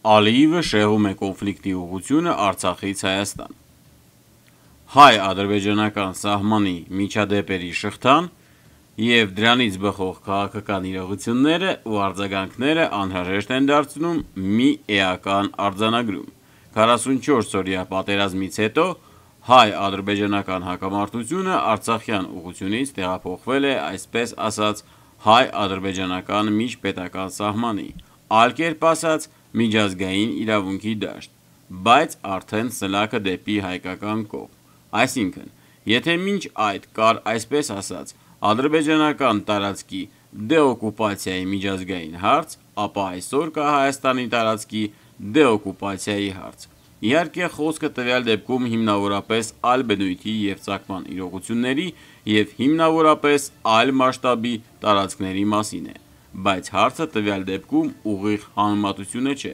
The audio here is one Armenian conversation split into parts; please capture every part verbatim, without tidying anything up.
Ալիևը շեղում է կոնֆլիկտի ուղղությունը Արցախից Հայաստան։ Հայ-ադրբեջանական սահմանի միջադեպերի շղթան և դրանից բխող քաղաքական իրողությունները ու արձագանքները անհրաժեշտ են դարձնում մի էական արձանագրում։ քառասունչորս-օրյա պատերազմից հետո հայ-ադրբեջանական հակամարտությունը Արցախյան ուղղությունից տեղափոխվել է այսպես ասած հայ-ադրբեջանական միջպետական սահմանի, այլ կերպ ասած միջազգային իրավունքի դաշտ, բայց արդեն սլաքը դեպի հայկական կողմ։ Այսինքն, եթե մինչ այդ կար այսպես ասած ադրբեջանական տարածքի դեօկուպացիայի միջազգային հարց, ապա այսօր կա Հայաստանի տարածքի դեօկուպացիայի հարց։ Իհարկե խոսքը տվյալ դեպքում հիմնավորապես այլ բնույթի և ծագման իրողությունների և հիմնավորապես այլ մասշտաբի տարածքների մասին է, բայց հարցը տվյալ դեպքում ուղիղ համեմատությունը չէ,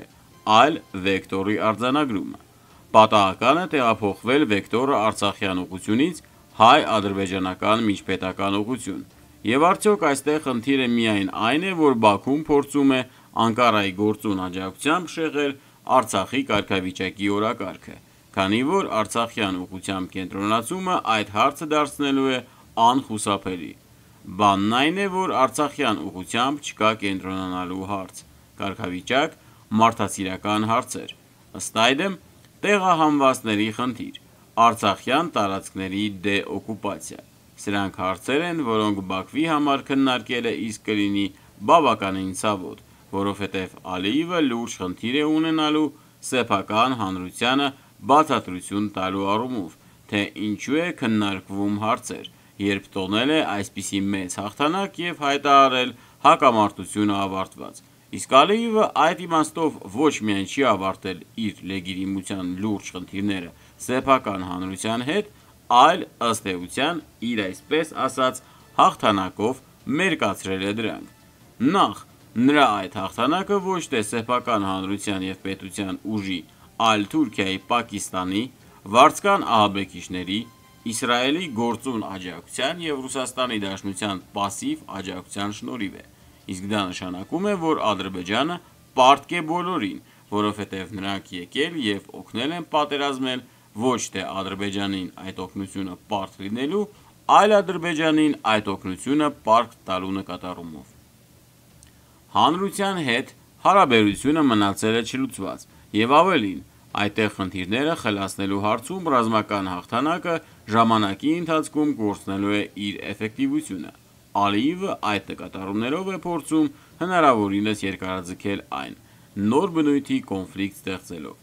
այլ վեկտորի արձանագրումը։ Պատահական է տեղափոխվել վեկտորը արցախյան ուղղությունից հայ-ադրբեջանական միջպետական ուղղություն։ Եվ արդյոք այստեղ խնդիրը միայն այն է, որ Բաքուն փորձում է Անկարայի գործուն աջակցությամբ շեղել Արցախի կարգավիճակի օրակարգը, քանի որ արցախյան ուղղությամբ կենտրոնացումը այդ հարցը դարձնելու է անխուսափելի։ Բանն այն է, որ արցախյան ուղղությամբ չկա կենտրոնանալու հարց, կարգավիճակ, մարդասիրական հարցեր, ըստ այդմ տեղահանվածների խնդիր, արցախյան տարածքների դեօկուպացիա։ Սրանք հարցեր են, որոնք Բաքվի համար քննարկելը իսկ կլինի բավականին ցավոտ, որովհետև Ալիևը լուրջ խնդիր է ունենալու սեփական հանրությանը բացատրություն տալու առումով, թե ինչու է քննարկվում հարցեր, երբ տոնել է այսպիսի մեծ հաղթանակ և հայտարարել հակամարտությունը ավարտված։ Իսկ Ալիևը այդ իմաստով ոչ միայն չի ավարտել իր լեգիտիմության լուրջ խնդիրները սեփական հանրության հետ, այլ ըստ էության իր այսպես ասած հաղթանակով մերկացրել է դրանք։ Նախ, նրա այդ հաղթանակը ոչ թե սեփական հանրության և պետության ուժի, այլ Թուրքիայի, Պակիստանի, վարձկան ահաբեկիչների, Իսրայելի գործուն աջակցության և Ռուսաստանի Դաշնության պասիվ աջակցության շնորհիվ է։ Իսկ դա նշանակում է, որ Ադրբեջանը պարտք է բոլորին, որովհետև նրանք եկել և օգնել են պատերազմել ոչ թե Ադրբեջանին այդ օգնությունը պարտք լինելու, այլ Ադրբեջանին այդ օգնությունը պարտք տալու նկատառումով։ Հանրության հետ հարաբերությունը մնացել է չլուծված, և ավելին, այդտեղ խնդիրները խլացնելու հարցում ռազմական հաղթանակը ժամանակի ընթացքում կորցնելու է իր էֆեկտիվությունը։ Ալիևը այդ նկատառումներով է փորձում հնարավորինս երկարաձգել այն՝ նոր բնույթի կոնֆլիկտ ստեղծելով։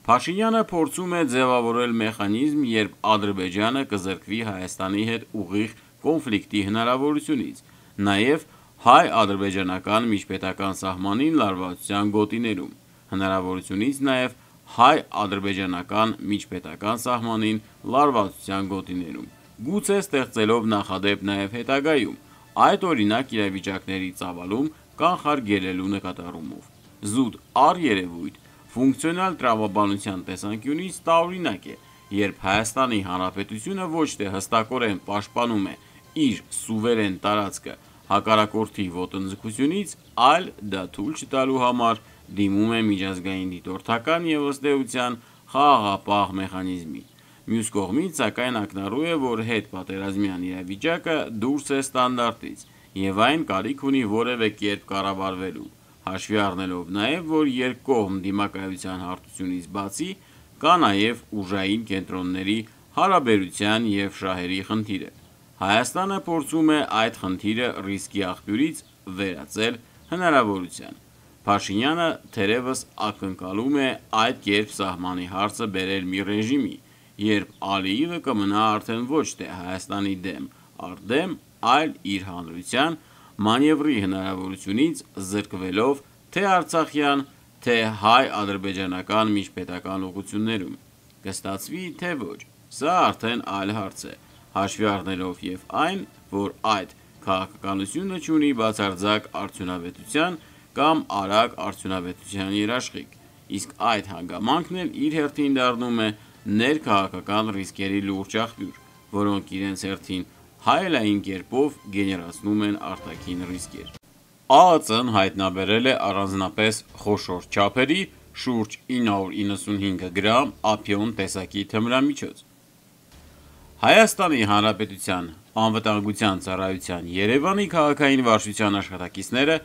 Փաշինյանը փորձում է ձևավորել մեխանիզմ, երբ Ադրբեջանը կզրկվի Հայաստանի հետ ուղիղ կոնֆլիկտի հնարավորությունից, նաև հայ-ադրբեջանական միջպետական սահմանին լարվածության գոտիներում, հնարավորությունից նաև հայ-ադրբեջանական միջպետական սահմանին լարվածության գոտիներում, գուցե ստեղծելով նախադեպ նաև հետագայում այդ օրինակ իրավիճակների ծավալում կանխարգելելու նկատառումով։ Զուտ առերևույթ ֆունկցիոնալ տրամաբանության տեսանկյունից տարօրինակ է, երբ Հայաստանի Հանրապետությունը ոչ թե հստակորեն պաշտպանում է իր սուվերեն տարածքը հակառակորդի ոտնձգությունից, այլ դա թույլ չտալու համար դիմում է միջազգային դիտորդական և ըստ էության խաղաղապահ մեխանիզմի։ Մյուս կողմից, սակայն ակնառու է, որ հետպատերազմյան իրավիճակը դուրս է ստանդարտից, և այն կարիք ունի որևէ կերպ կառավարվելու, հաշվի առնելով նաև, որ երկկողմ դիմակայության հարթությունից բացի, կա նաև ուժային կենտրոնների հարաբերության և շահերի խնդիրը։ Հայաստանը փորձում է այդ խնդիրը ռիսկի աղբյուրից վերածել հնարավորության։ Փաշինյանը թերևս ակնկալում է այդ կերպ սահմանի հարցը բերել մի ռեժիմի, երբ Ալիևը կմնա արդեն ոչ թե Հայաստանի դեմ առ դեմ, այլ իր հանրության մանևրի հնարավորությունից զրկվելով թե արցախյան, թե հայ-ադրբեջանական միջպետական ուղղություններում։ Կստացվի, թե ոչ, սա արդեն այլ հարց է, հաշվի առնելով և այն, որ այդ քաղաքականությունը չունի բացարձակ արդյունավետության կամ արագ արդյունավետության երաշխիք, իսկ այդ հանգամանքն էլ իր հերթին դառնում է ներքաղաքական ռիսկերի լուրջ աղբյուր, որոնք իրենց հերթին հայելային կերպով գեներացնում են արտաքին ռիսկեր։ ԱԱԾ-ն հայտնաբերել է առանձնապես խոշոր չափերի շուրջ ինը հարյուր իննսունհինգ գրամ ափիոն տեսակի թմրամիջոց։ Հայաստանի Հանրապետության անվտանգության ծառայության Երևանի քաղաքային վարչության աշխատակիցները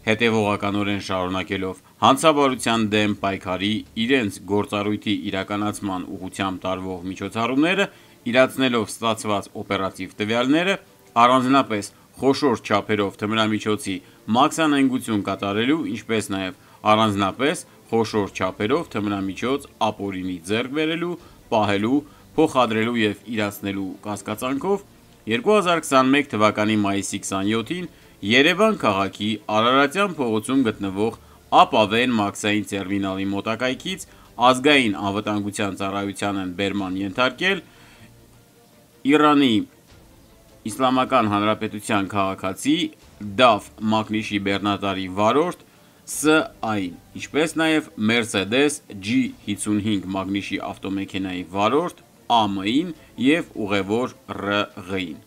հետևողականորեն շարունակելով հանցավարության դեմ պայքարի իրենց գործառույթի իրականացման ուղղությամբ տարվող միջոցառումները, իրացնելով ստացված օպերատիվ տվյալները, առանձնապես խոշոր չափերով թմրամիջոցի մաքսանենգություն կատարելու, ինչպես նաև առանձնապես խոշոր չափերով թմրամիջոց ապօրինի ձեռք բերելու, պահելու, փոխադրելու և իրացնելու կասկածանքով երկու հազար քսանմեկ թվականի մայիսի քսանյոթին Երևան քաղաքի Արարատյան փողոցում գտնվող Ապավեն մաքսային տերմինալի մոտակայքից Ազգային անվտանգության ծառայության են բերման ենթարկել Իրանի Իսլամական Հանրապետության քաղաքացի Դաֆ մակնիշի բեռնատարի վարորդ Ս Ա-ին, ինչպես նաև Mercedes G հինգսունհինգ մագնիշի ավտոմեքենայի վարորդ Ա Մ-ին և ուղևոր Ռ Ղ-ին։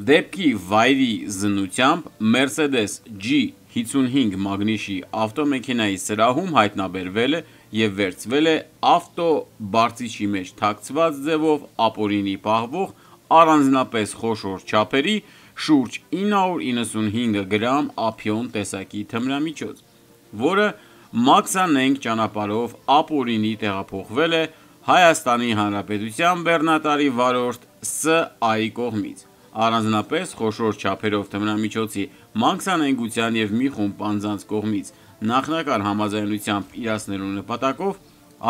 Դեպքի վայրի զննությամբ Mercedes G հինգսունհինգ մագնիշի ավտոմեքենայի սրահում հայտնաբերվել է և վերցվել է ավտոբարձիչի մեջ թաքցված ձևով ապօրինի պահվող առանձնապես խոշոր չափերի շուրջ ինը հարյուր իննսունհինգ գրամ ափիոն տեսակի թմրամիջոց, որը մաքսանենգ ճանապարհով ապօրինի տեղափոխվել է Հայաստանի Հանրապետության բեռնատարի վարորդ Ս Ա-ի կողմից։ Առանձնապես խոշոր չափերով թմրամիջոցի մաքսանենգության և մի խումբ անձանց կողմից նախնական համաձայնությամբ իրացնելու նպատակով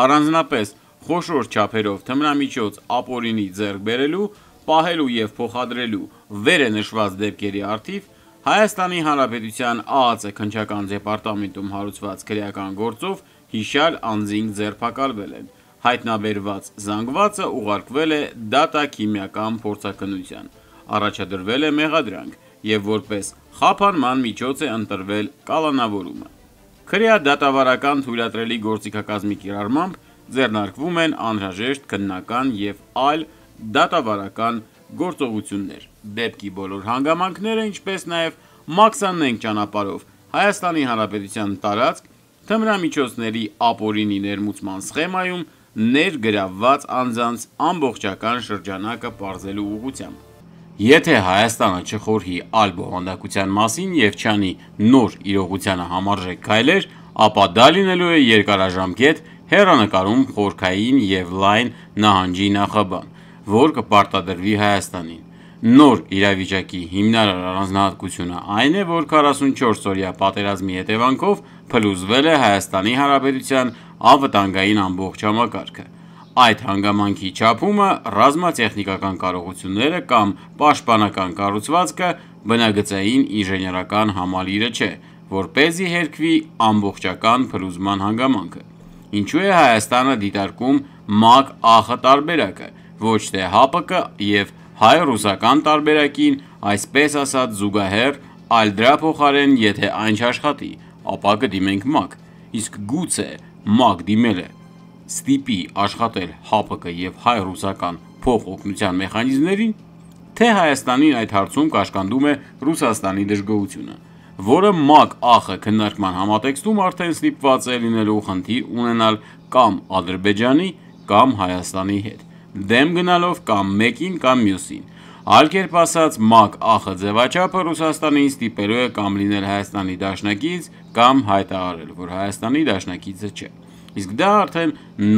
առանձնապես խոշոր չափերով թմրամիջոց ապօրինի ձեռք բերելու, պահելու և փոխադրելու վերը նշված դեպքերի առթիվ Հայաստանի Հանրապետության Ա Ա Ծ քննչական դեպարտամենտում հարուցված քրեական գործով հիշյալ անձինք ձերբակալվել են։ Հայտնաբերված զանգվածը ուղարկվել է դատաքիմիական փորձաքննության, առաջադրվել է մեղադրանք և որպես խափանման միջոց է ընտրվել կալանավորումը։ Քրեադատավարական թույլատրելի գործիքակազմի կիրառմամբ ձեռնարկվում են անհրաժեշտ քննական և այլ դատավարական գործողություններ։ Դեպքի բոլոր հանգամանքները, ինչպես նաև մաքսանենգ ճանապարհով Հայաստանի Հանրապետության տարածք թմրամիջոցների ապօրինի ներմուծման սխեմայում ներգրավված անձանց ամբողջական շրջանակը պարզելու ուղղությամբ։ Եթե Հայաստանը չխորհի այլ բովանդակության մասին և չանի նոր իրողությանը համարժեք քայլեր, ապա դա լինելու է երկարաժամկետ հեռանկարում խորքային և լայն նահանջի նախաբան, որ կպարտադրվի Հայաստանին։ Նոր իրավիճակի հիմնարար առանձնահատկությունը այն է, որ քառասունչորս-օրյա պատերազմի հետևանքով փլուզվել է Հայաստանի Հանրապետության անվտանգային ամբողջ համակարգը։ Այդ հանգամանքի չափումը, ռազմատեխնիկական կարողությունները կամ պաշտպանական կառուցվածքը բնագծային ինժեներական համալիրը չէ, որպեսզի հերքվի ամբողջական փլուզման հանգամանքը։ Ինչու է Հայաստանը դիտարկում ՄԱԿ ԱԽ տարբերակը, ոչ թե ՀԱՊԿ և հայ-ռուսական տարբերակին, այսպես ասած զուգահեռ, այլ դրա փոխարեն, եթե այն չաշխատի, ապա կդիմենք ՄԱԿ, իսկ գուցե ՄԱԿ դիմելը ստիպի աշխատել ՀԱՊԿ և հայ-ռուսական փոխօգնության մեխանիզմներին, թե Հայաստանին այդ հարցում կաշկանդում է Ռուսաստանի դժգոհությունը, որը ՄԱԿ ԱԽ քննարկման համատեքստում արդեն ստիպված է լինելու խնդիր ունենալ կամ Ադրբեջանի, կամ Հայաստանի հետ, դեմ գնալով կամ մեկին, կամ մյուսին։ Այլ կերպ ասած, ՄԱԿ ԱԽ ձևաչափը Ռուսաստանին ստիպելու է կամ լինել Հայաստանի դաշնակից, կամ հայտարարել, որ Հայաստանի դաշնակիցը չէ։ Իսկ դա արդեն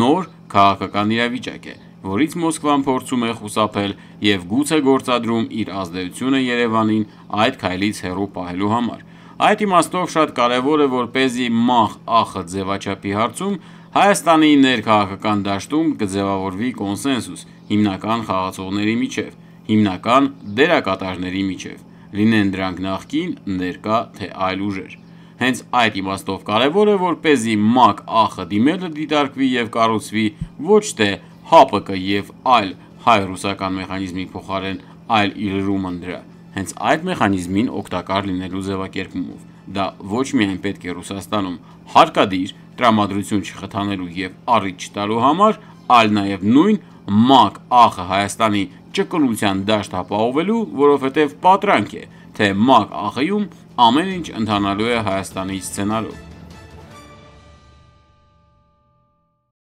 նոր քաղաքական իրավիճակ է, որից Մոսկվան փորձում է խուսափել և գուցե գործադրում իր ազդեցությունը Երևանին այդ քայլից հեռու պահելու համար։ Այդ իմաստով շատ կարևոր է, որպեսզի ՄԱԽ ԱԽ ձևաչափի հարցում Հայաստանի ներքաղաքական դաշտում կձևավորվի կոնսենսուս հիմնական խաղացողների միջև, հիմնական դերակատարների միջև, լինեն դրանք նախկին, ներկա, թե այլ ուժեր։ Հենց այդ իմաստով կարևոր է, որպեսզի ՄԱԿ ԱԽ դիմելը դիտարկվի և կառուցվի ոչ թե ՀԱՊԿ և այլ հայ-ռուսական մեխանիզմի փոխարեն, այլ ի լրումն դրա, հենց այդ մեխանիզմին օգտակար լինելու ձևակերպումով։ Դա ոչ միայն պետք է Ռուսաստանում հարկադիր տրամադրություն չխթանելու և առիթ չտալու համար, այլ նաև նույն ՄԱԿ ԱԽ Հայաստանի ճկունության դաշտ ապահովելու, որովհետև պատրանք է, թե ՄԱԿ ԱԽ-ում Ամեն ինչ ընթանալու է Հայաստանի սցենարով։